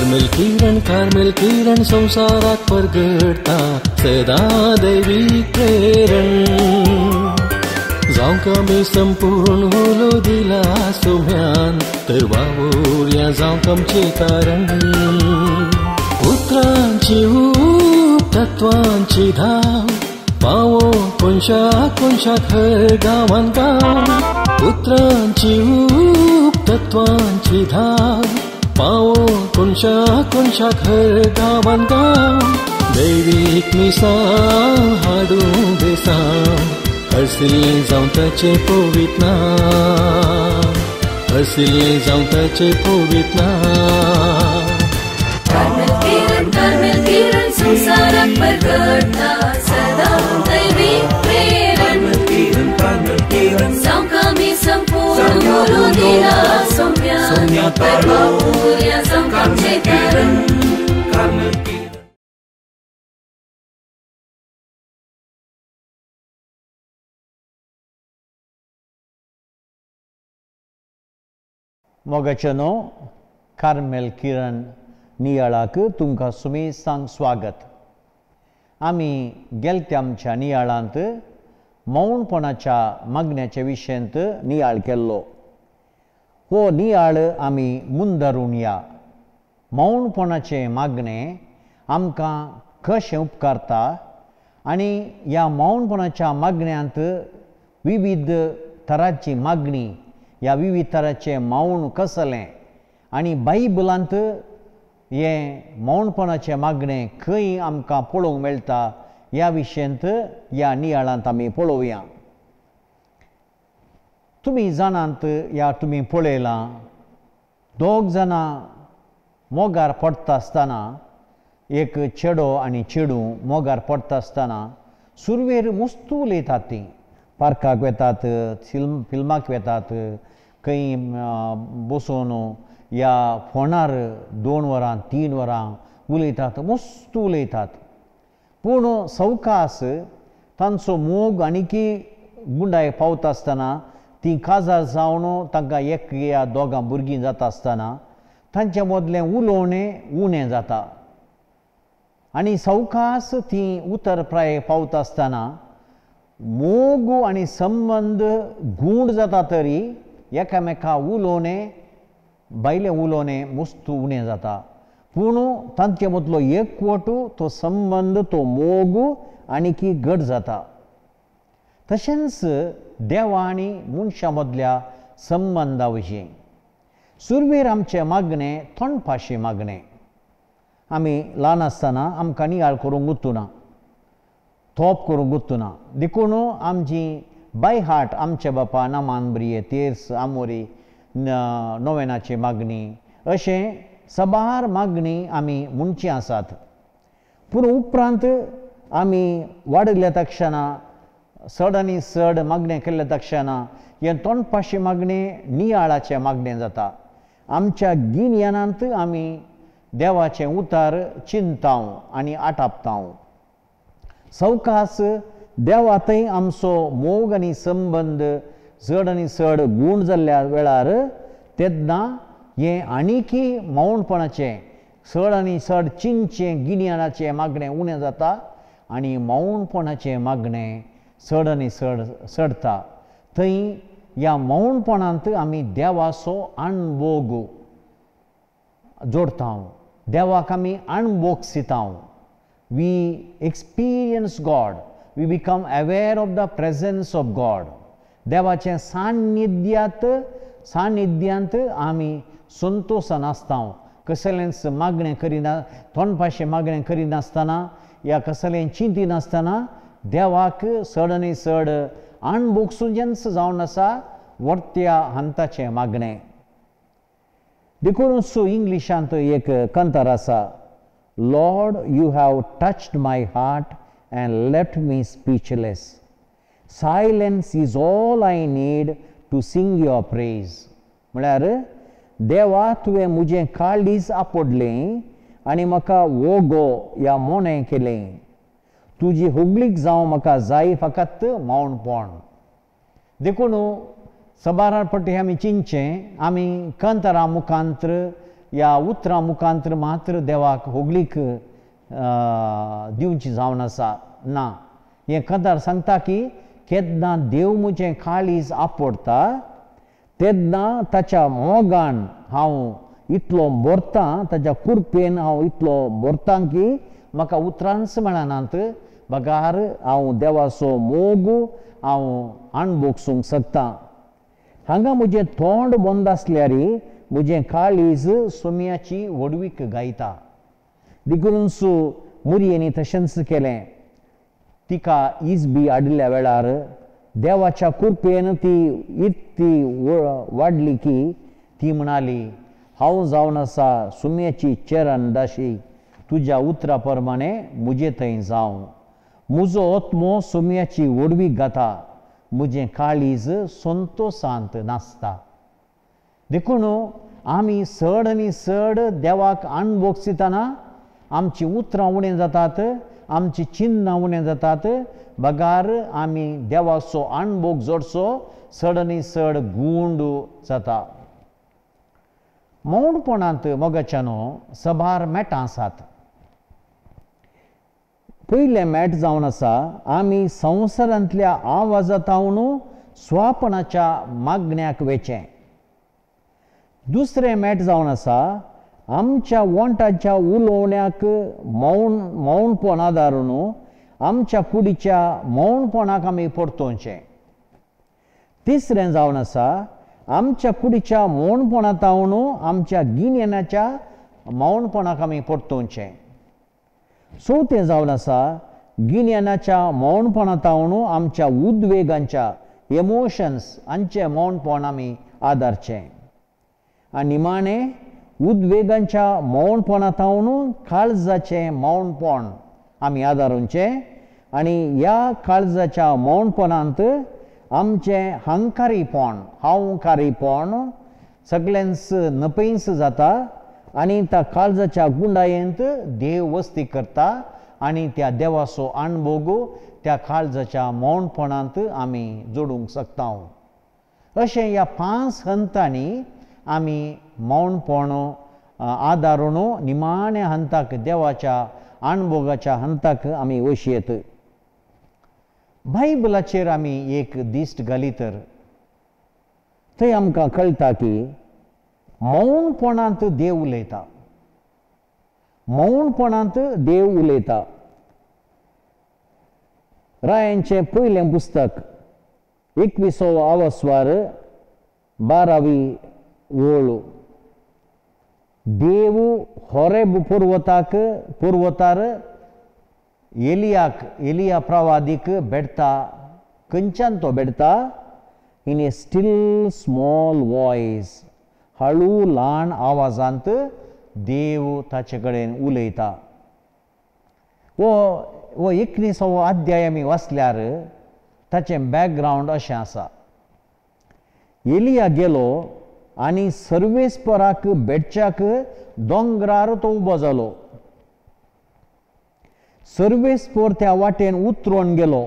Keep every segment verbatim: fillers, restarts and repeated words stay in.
Carmel किरण Carmel किरण संवसाराक परगडटा सदां दैवीक प्रेरण जावंक आमी संपूर्ण उलो दिला सोम्यान तर वावुरया जावंक आमचें कारण उतरांची ऊब तत्वांची धाव पावो कोनशा कोनशाक हर गांवान गांव उतरांची ऊब तत्वांची धाव पावो कोनशा कोनशाक हर गांवान गांव दैवीक मिसां हाडूं बेसांव हरसिल्लें जावं ताचें पवित्र नांव हरसिल्लें जावं ताचें पवित्र नांव कार्मेल किरण कार्मेल किरण संवसाराक परगडटा सदां दैवीक प्रेरण जावंक आमी संपूर्ण उलो दिला सोम्यान तर वावुरया जावंक आमचें कारण मोगाचे न्हू कार्मेल किरण नियाळाक तुमकां सुमेसांक स्वागत. आमी गेलत्या आमच्या नियाळांत मौनपणाच्या मागण्याच्या विशयांत नियाळ केल्लो. हो नियाळ आमी मुंदरून या. मौनपणाचें मागणें आमकां कशें उपकारता आनी ह्या मौनपणाच्या मागण्यांत विविध तरांची मागणी ह्या विविध तरांचें मौन कसलें आनी बायबलांत हें मौनपणाचें मागणें खंय आमकां पळोवंक मेळटा ह्या विशयांत ह्या नियाळांत आमी पळोवया. तुमी जाणात ह्या तुमी पळयलां दोग जाणां मोगार पडटा आसतना एक चेडो आनी चेडूं मोगार पडटा आसतना सुरवेर मस्त उलयतात तीं पार्काक वेतात फिल्म फिल्माक वेतात खंय बसून या फोनार दोन वरां तीन वरां उलयतात मस्त उलयतात. पूण सवकास तांचो मोग आनीकी गुंडाय पावता आसतना तीं काजार जावन तांकां एक या दोगां भुरगीं जाता आसतना तांचे मदलें उलोवणें उणें जाता आनी सवकास तीं उतर प्राय पावता आसतना मोग आनी संबंद गूण जाता तरी एकामेका उलोवणें भायलें उलोवणें मस्त उणें जाता. पूण तांचे मदलो एकवट तो संबंद तो मोग आनीकी घट जाता. तशेंच देवा आनी मनशां मदल्या संबंदा विशीं सुरवेर आमचें मागणें तोंडपाशी मागणें आमी ल्हान आसतना आमकां नियाळ करूंक उरतना तोप करूंक उरतना देखून आमची बाय हार्ट आमचे बापा नामान ब्रिये तेर्स आमोरी नोवेनाची मागणी अशें सबार मागणी आमी म्हणची आसात. पूण उपरांत आमी वाडिल्ल्या तक्षणा चड आनी चड मागणें केल्ल्या तक्षणा हें तोंडपाशी मागणें नियाळाचें मागणें जाता. आमच्या गिन्यानांत आमी देवाचें उतार चिंताव आनी आटापताव. सवकास देवातय आमचो मोग आनी संबंद चड आनी चड गूण जाल्ल्या वेळार तेन्ना हें आनीकी मौनपणाचें चड आनी चड चिंतचें गिन्यानाचें मागणें उणें जाता आनी मौनपणाचें मागणें चड आनी चड चडटा. थंय ह्या मौनपणांत आमी देवाचो अणभोग जोडटा, देवाक आमी अणभोगसिता. We experience God, we become aware of the presence of God. देवाचें सान्निध्यांत सान्निध्यांत आमी संतोशान आसता. कसलेंच मागणें करिना तोंडपाशें मागणें करिनासतना या कसलें चिंतिनासतना देवाक चड आनी चड अणभोगसुजेंच जावन आसा वर्त्या हंताचें मागणें. देखून सो इंग्लिशांत एक कंतार आसा, Lord, you have touched my heart and left me speechless. Silence is all I need to sing your praise. म्हळ्यार देवा तुवें म्हजें काळीज आपडलें आनी म्हाका वोगो या मोनें केलें. तुजी हुगलीक जावं म्हाका जाय फकत मौनपण. देखून सबारार पट्टी आमी चिंतचें आमी कंतरा मुखांत्र ह्या उतरां मुखांतर मात्र देवाक होगळीक दिवची जावन आसा ना. हें कांतार सांगता की केन्ना देव म्हजें काळीज आपडटा तेन्ना ताच्या मोगान हांव इतलो भरतां, ताच्या कुरपेन हांव इतलो भरतां की म्हाका उतरांच मेळनात, बगार हांव देवाचो मोग हांव अणभोगसूंक शकता. हांगा म्हजें तोंड बंद आसल्यार म्हजें काळीज सोम्याची व्हडवीक गायता. देखूनच मुरयेंनी तशेंच केलें. तिका इजबी हाडिल्ल्या वेळार देवाच्या कुरपेन ती इतली वाडली की ती म्हणाली, हांव जावन आसा सुम्याची चरण दाशी, तुज्या उतरा प्रमाणे म्हजे थंय जावं. म्हजो आत्मो सुम्याची व्हडवीक गाता, म्हजें काळीज संतोशांत नासता. देखून आमी चड आनी चड देवाक अणभोगसितना आमचीं उतरां उणें जातात, आमची चिन्नां उणें जातात, बगार आमी देवाचो अणभोग जोडचो चड आनी चड गूंड जाता. मौणपणांत मोगाच्यानो सबार मेटां आसात. पयलें मेट जावन आसा आमी संवसारांतल्या आवाजांत स्वापणाच्या मागण्याक वेचें. दुसरें मेट जावन आसा आमच्या वोंटाच्या उलोवण्याक मौन मौनपण आदारून आमच्या कुडीच्या मौनपणाक आमी परतोवचें. तिसरें जावन आसा आमच्या कुडीच्या मौनपणांत आमच्या गिन्यानाच्या मौनपणाक आमी परतोवचें. चवथें जावन आसा गिन्यानाच्या मौनपणांत आमच्या उद्वेगांच्या एमोशन्स हांचें मौनपण आमी आदारचें. आनी निमाणें उद्वेगांच्या मौनपणांत काळजाचें मौनपण आमी आदारूचें आनी ह्या काळजाच्या मौनपणांत आमचें हंकारीपण हांवकारीपण सगळ्यांच नपयंस जाता आनी त्या काळजाच्या गुंडायेंत देव वस्ती करता आनी त्या देवाचो अणभोग त्या काळजाच्या मौनपणांत आमी जोडूंक शकता. अशें ह्या पांच हंतांनी आमी मौनपण आदारून निमाण्या हंताक देवाच्या अणभोगाच्या हंताक आमी वशयेत. बायबलाचेर आमी एक दिश्ट घाली तर थंय आमकां कळटा की मौनपणांत देव उलयता, मौनपणांत देव उलयता. रायांचें पयलें पुस्तक एकविसो आवस्वार बारावी ओळ. देव होरेब पर्वताक पर्वतार एलियाक एलिया प्रवादीक भेटता. खंयच्यान तो भेटता? In a still small voice, हळू ल्हान आवाजांत देव ताचे कडेन उलयता. हो हो एकविसावो अध्याय आमी वाचल्यार ताचें बॅकग्रावंड अशें आसा. एलिया गेलो आनी सर्वेस्पराक भेटच्याक दोंगरार तो उबो जालो. सर्वेस्पर त्या वाटेन उतरून गेलो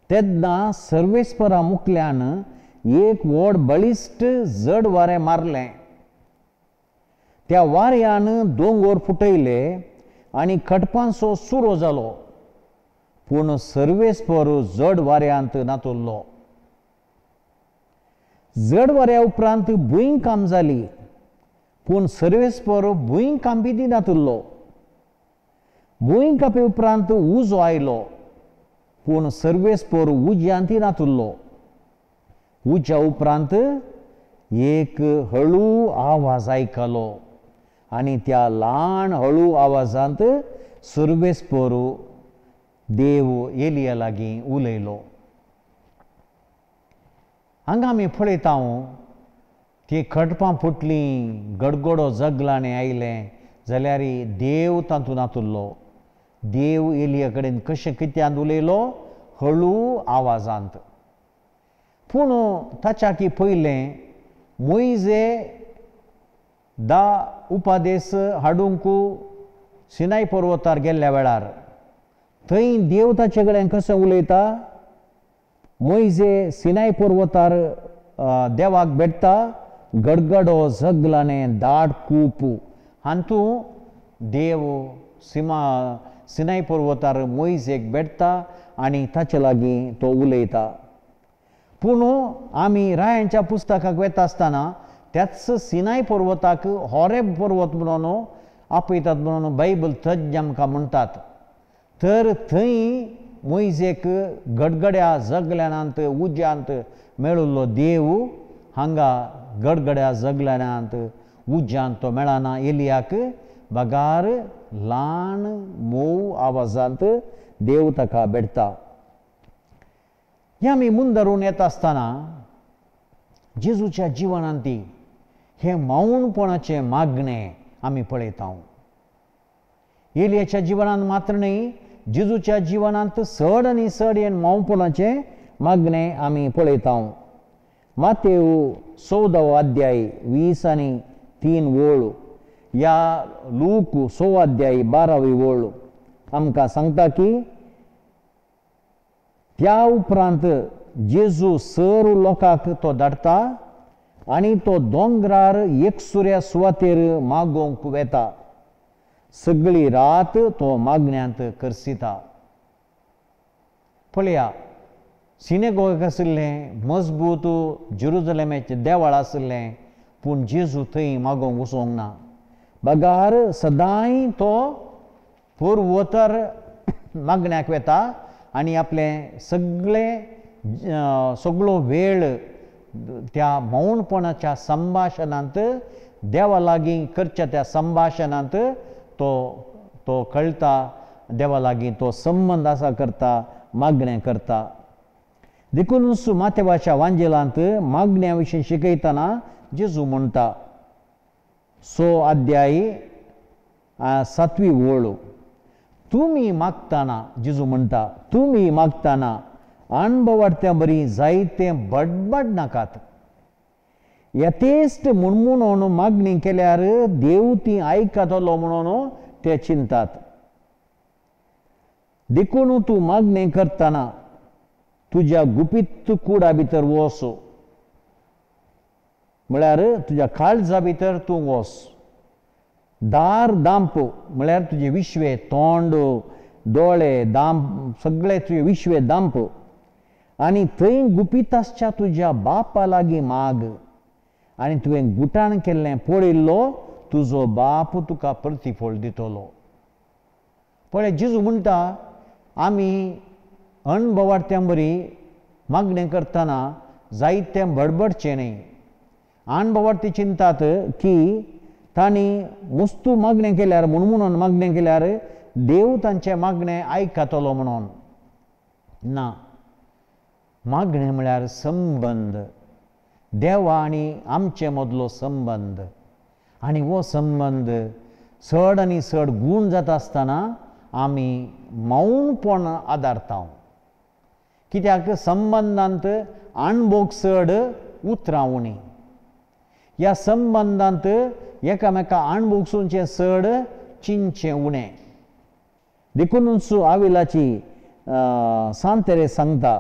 तेन्ना सर्वेस्परा मुखल्यान एक व्हड बळिश्ट जड वारें मारलें. त्या वाऱ्यान दोंगर फुटयले आनी खडपांचो सुरो जालो, पूण सर्वेस्पर जड वाऱ्यांत नातुल्लो. जड वाऱ्या उपरांत भूंयकांप जाली, पूण सर्वेस्पर भूंयकांपी दिनातुल्लो. भूंयकांपी उपरांत उजो आयलो, पूण सर्वेस्पर उज्यांत नातुल्लो. उज्या उपरांत एक हळू आवाज आयकलो आनी त्या ल्हान हळू आवाजांत सर्वेस्पर देव एलिया लागीं उलयलो. हांगा आमी पळयता ती खडपां फुटलीं, गडगडो जगलांनी आयलें जाल्यार देव तातूंत नातुल्लो. देव एलिया कडेन कशें कित्यांत उलयलो? हळू आवाजांत. पूण ताच्या की पयलें मोयजे दा उपादेस हाडूंक सिनाय पर्वतार गेल्ल्या वेळार थंय देव ताचे कडेन कशें उलयता? मोयजे सिनाय पर्वतार देवाक भेटता गडगडो जगलाने दाट कूप हातूं देव सिमा सिनाय पर्वतार मोयजेक भेटता आनी ताचे लागीं तो उलयता. पूण आमी रायांच्या पुस्तकाक वेता आसतना त्याच सिनाय पर्वताक होरेब पर्वत म्हणून आपयतात म्हणून बायबल तज्ञ आमकां म्हणटात. तर थंय मोयजेक गडगड्या जगल्यानांत उज्यांत मेळिल्लो देव हांगा गडगड्या जगल्यानांत उज्यांत तो मेळना. एलियाक बगार ल्हान मोव आवाजांत देव ताका भेटता. हें आमी मुंदरून येता आसतना जेजूच्या जिवनांत हें मौनपणाचें मागणें आमी पळयता. एलियाच्या जिवनांत मात्र न्हय, जेजूच्या जिवनांत चड आनी चड हें मौनपणाचें मागणें आमी पळयता. मातेव चवदावो अध्याय वीस आनी तीन वळ या लूक स अध्याय बारावी वळ आमकां सांगता की त्या उपरांत जेजू सर लोकांक तो धाडटा आनी तो दोंगरार एकसुऱ्या सुवातेर मागोवंक वेता. सगळी रात तो मागण्यांत करसिता. पळया, सिनेगोग आशिल्लें मजबूत जेरुजलेमाचें देवळ आशिल्लें, पूण जेजू थंय मागोवंक वचोंक ना. बगार सदांय तो पर्वतार मागण्याक वेता आनी आपलें सगळें सगळो वेळ त्या मौनपणाच्या संभाशणांत देवा लागीं करच्या त्या संभाशणांत तो तो कळटा, देवा लागीं तो संबंद आसा करता, मागणें करता. देखूनच मातेवाच्या वांजेलांत मागण्या विशीं शिकयतना जेजू म्हणटा सो अध्याय सातवी वळ, तुमी मागतना, जेजू म्हणटा तुमी मागतना अणभवाडत्या बरी जायते बडबड नाकात. यथेश्ट म्हणून मागणी केल्यार देव ती आयकतलो म्हणून ते चिंतात. देखून तूं मागणी करतना तुज्या गुपीत कुडा भितर वस, म्हळ्यार तुज्या काळजा भितर तूं वस. दार दांप म्हळ्यार तुजें विश्वे तोंड दोळे दांप सगळे तुजे विश्वे दांप आनी थंय गुपीत आसच्या तुज्या बापा लागीं माग आनी तुवें गुटान केल्लें पळयल्लो तुजो बाप तुका प्रतिफळ दितलो. पळय जेजू म्हणटा आमी अणभवाडत्यां बरी मागणें करतना जायतें बडबडचें न्हय. अणभवाडती चिंतात की तांणी वस्तू मागणें केल्यार म्हूण म्हणून मागणें केल्यार देव तांचें मागणें आयकतलो म्हणून ना. मागणें म्हळ्यार संबंद, देवा आनी आमचे मदलो संबंद, आनी हो संबंद चड आनी चड गूण जाता आसतना आमी मौनपण आदारता. कित्याक संबंदांत अणभोग चड उतरां उणी. ह्या संबंदांत एकामेका अणभोगसूंचें चड चिंचें उणें. देखूनच आविलाची सांतेरे सांगता,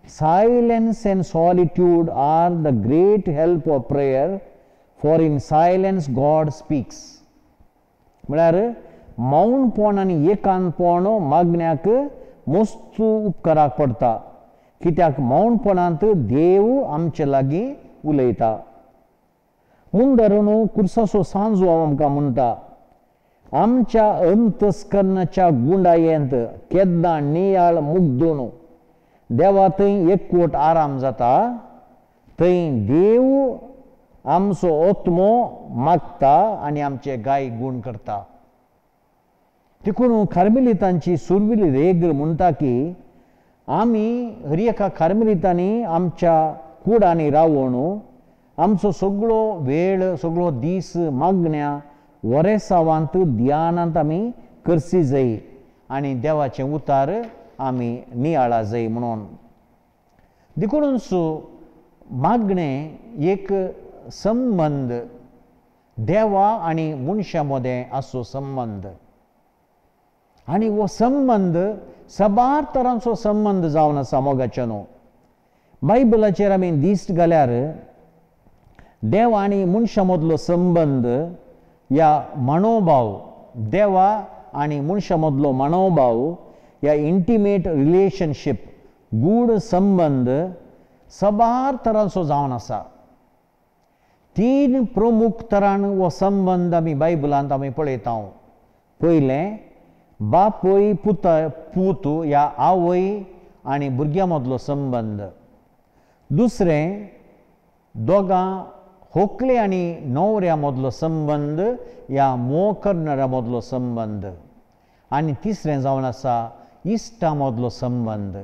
silence and solitude are the great help of prayer, for in silence God speaks. म्हळ्यार मौनपण आनी एकांतपण मागण्याक मस्त उपकाराक पडटा, कित्याक मौनपणांत देव आमचे लागीं उलयता. मुंदरून कुर्साचो सांजो आमकां म्हणटा, आमच्या अंतस्कर्णाच्या गुंडायेंत केन्ना नियाळ मुग्दून देवा थंय एकवट आराम जाता, थंय देव आमचो आत्मो मागता आनी आमचे गाय गूण करता. देखून कार्मेलितांची सुरविली रेग म्हणटा की आमी हर एका कार्मेलितांनी आमच्या कुडांनी रावून आमचो सगळो वेळ सगळो दीस मागण्या वरेसावांत ध्यानांत आमी करसी जाय आनी देवाचें उतार आमी नियाळा जाय म्हणून. देखूनच मागणें एक संबंद, देवा आनी मनशां मदें आसचो संबंद, आनी हो संबंद साबार तरांचो संबंद जावन आसा मोगाच्या न्हू. बायबलाचेर आमी दिश्ट घाल्यार देव आनी मनशां मदलो संबंद ह्या मनोभाव, देवा आनी मनशां मदलो मनोभाव ह्या इंटिमेट रिलेशनशीप, गूढ संबंद सबार तरांचो जावन आसा. तीन प्रमुख तरान हो संबंद आमी बायबलांत आमी पळयता. पयलें, बापूय पुता पूत ह्या आवय आनी भुरग्यां मदलो संबंद. दुसरें, दोगां होकले आनी न्हवऱ्या मदलो संबंद ह्या मोग करणाऱ्या मदलो संबंद. आनी तिसरें जावन आसा इश्टा मदलो संबंद.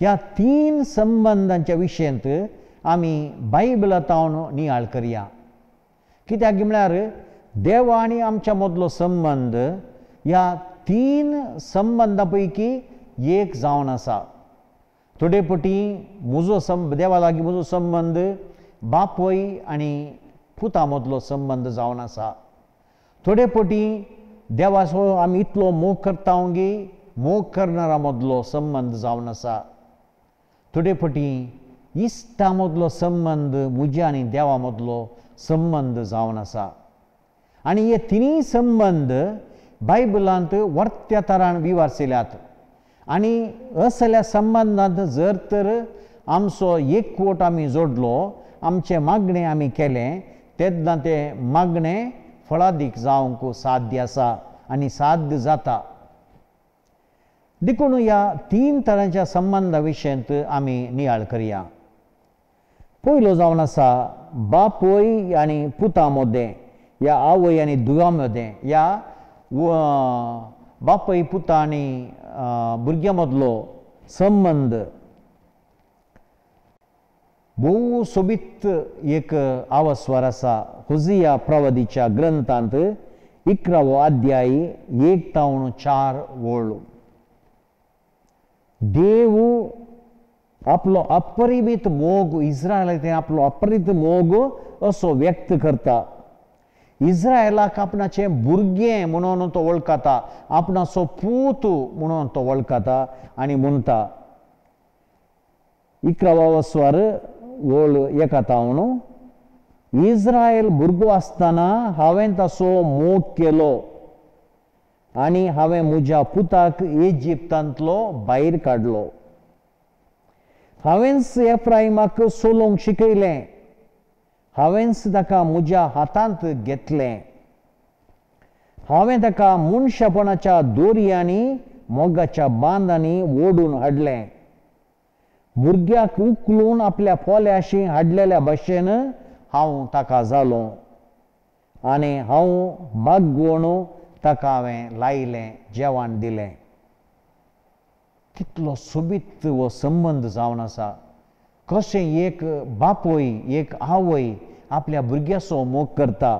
ह्या तीन संबंदांच्या विशयांत आमी बायबलांत नियाळ करया. कित्याक म्हळ्यार देवा आनी आमच्या मदलो संबंद ह्या तीन संबंदां पैकी एक जावन आसा. थोडे पटी म्हजो सं देवा लागीं म्हजो संबंद बापूय आनी पुता मदलो संबंद जावन आसा. थोडे पटी देवाचो आमी इतलो मोग करता गी मोग करणारा मदलो संबंद जावन आसा. थोडे पटी इश्टा मदलो संबंद म्हज्या आनी देवा मदलो संबंद जावन आसा. आनी हे तिनूय संबंद बायबलांत वर्त्या तरान विवारशिल्यात. आनी असल्या संबंदांत जर तर आमचो एकवट आमी जोडलो, आमचें मागणें आमी केलें, तेन्ना तें मागणें फळादीक जावंक साध्य आसा आनी साध्य जाता. देखून ह्या तीन तरांच्या संबंदा विशयांत आमी नियाळ करया. पयलो जावन आसा बापूय आनी पुता मदें ह्या आवय आनी धुवा मदें ह्या बापूय पुता आनी भुरग्यां मदलो संबंद. भोव सोबीत एक आवस्वार आसा होजिया प्रवादीच्या ग्रंथांत इकरावो अध्याय एक तावन चार वळ. देव आपलो अपरिमीत मोग इस्रायलाक आपलो अपरिमीत मोग असो व्यक्त करता. इस्रायलाक आपणाचें भुरगें म्हणून तो वळखता, आपणाचो पूत म्हणून तो वळखता आनी म्हणटा इकरावो स्वर वळ एका तावन, इस्रायल भुरगो आसतना हांवें ताचो मोग केलो आनी हांवें म्हज्या पुताक इजिप्तांतलो भायर काडलो. हांवेंच एफ्राइमाक चलोवंक शिकयलें, हांवेंच ताका म्हज्या हातांत घेतलें, हांवें ताका मनशापणाच्या दोरयांनी मोगाच्या बांदांनी ओडून हाडलें. भुरग्याक उखलून आपल्या पोल्याशी हाडलेल्या भशेन हांव ताका जालो आनी हांव बागवण ताका हांवें लायलें, जेवण दिलें. कितलो सोबीत हो संबंद जावन आसा. कशें एक बापूय एक आवय आपल्या भुरग्याचो मोग करता,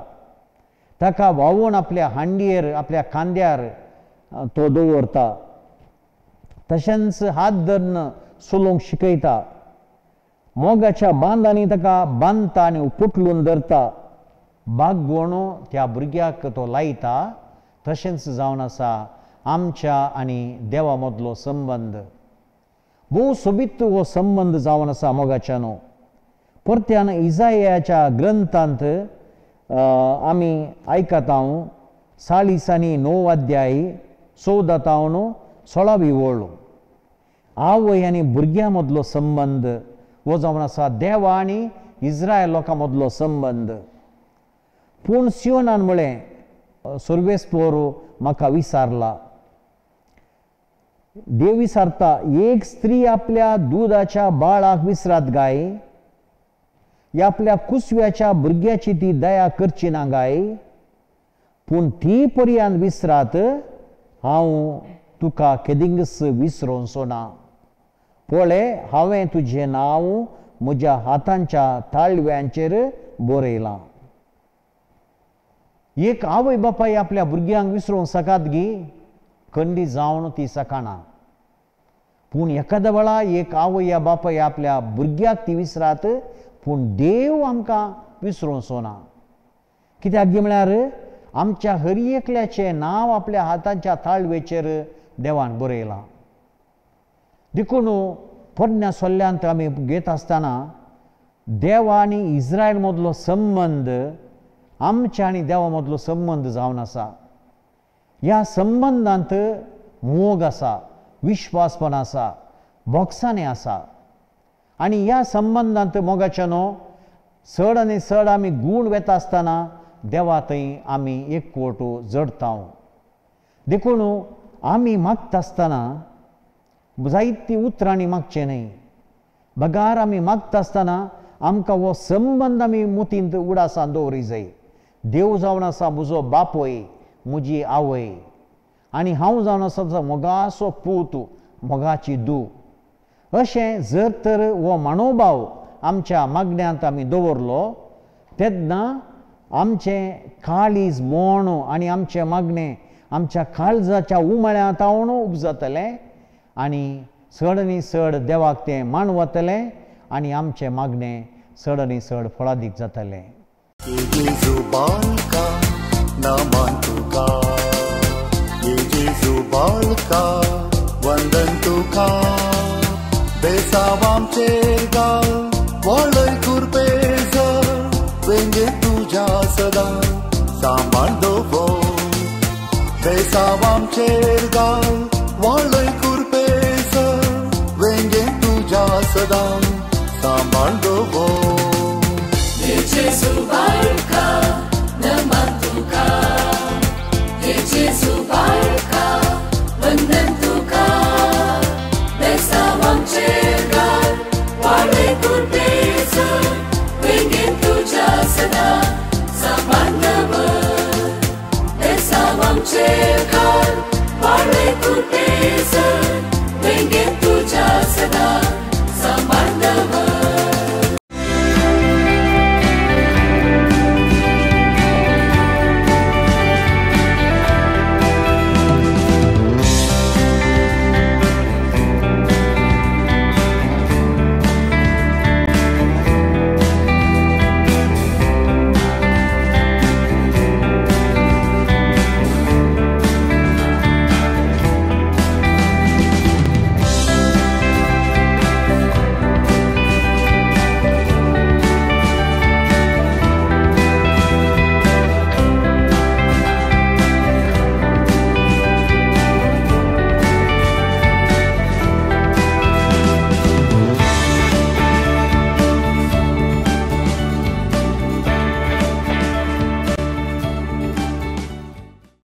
ताका व्हांवून आपल्या हांडयेर आपल्या खांद्यार तो दवरता, तशेंच हात धरून चलोवंक शिकयता, मोगाच्या बांदांनी ताका बांदता आनी पुटलून धरता, बागवण त्या भुरग्याक तो लायता. तशेंच जावन आसा आमच्या आनी देवा मदलो संबंद. भोव सोबीत हो संबंद जावन आसा मोगाच्यानो. परत्यान इजायाच्या ग्रंथांत आमी आयकता चाळीस आनी णव अध्याय चवदा तावन सोळावी वळ. आवय आनी भुरग्यां मदलो संबंद हो जावन आसा देवा आनी इस्रायल लोकां मदलो संबंद. पूण सियोनान म्हळें, सर्वेस्पोर म्हाका विसारला. देव विसारता. एक स्त्री आपल्या दुदाच्या बाळाक विसरात गाय, या आपल्या कुसव्याच्या भुरग्याची ती दया करची ना गाय, पूण ती पर्यंत विसरात हांव तुका केदिंगस विसरोवचो ना. पळय, हांवें तुजें नांव म्हज्या हातांच्या ताळव्यांचेर बरयलां. एक आवय बापाय आपल्या भुरग्यांक विसरूंक सकात गी, खंडी जावन ती सकाना. पूण एखाद्या वेळा एक आवय या बापाय आपल्या भुरग्याक ती विसरात, पूण देव आमकां विसरोवचो ना. कित्याक गी म्हळ्यार आमच्या हर एकल्याचें नांव आपल्या हातांच्या ताळवेचेर देवान बरयलां. देखून पोरण्या सोल्ल्यांत आमी घेत आसतना देवा आनी इस्रायल मदलो संबंद आमच्या आनी देवा मदलो संबंद जावन आसा. ह्या संबंदांत मोग आसा, विश्वासपण आसा, भोगसाणें आसा. आनी ह्या संबंदांत मोगाच्यानो चड आनी चड आमी गूण वेता आसतना देवा थंय आमी एकवट जडता. देखून आमी मागता आसतना जायतीं उतरांनी मागचें न्हय, बगार आमी मागता आसतना आमकां हो संबंद आमी मुतींत उडासान दवरी जाय. देव जावन आसा म्हजो बापूय, म्हजी आवय, आनी हांव जावन आसा मोगाचो पूत, मोगाची धूव. अशें जर तर हो मनोभाव आमच्या मागण्यांत आमी दवरलो तेन्ना आमचें काळीज मोण आनी आमचें मागणें आमच्या काळजाच्या उमाळ्यांत हांव उपजतलें आनी चड आनी चड देवाक तें मानवतलें आनी आमचें मागणें चड आनी चड फळादीक जातलें. वंदन तुका बेसावामचेर गाल वळय कुरपेज वेंगे तुज्या सदां सांबाळ दवर. बेसावामचेर गाल वळय कुरपेज वेंगे तुज्या सदां सांबाळ दवर. जेजू बाळका नमन तुका, जेजू बाळका वंदन तुका, बेसावामचेर गाल वाळय कुरपेज वेंगेन तुज्या सदां सांबाळ दवर. बेसावामचेर गाल वाळय कुरपेज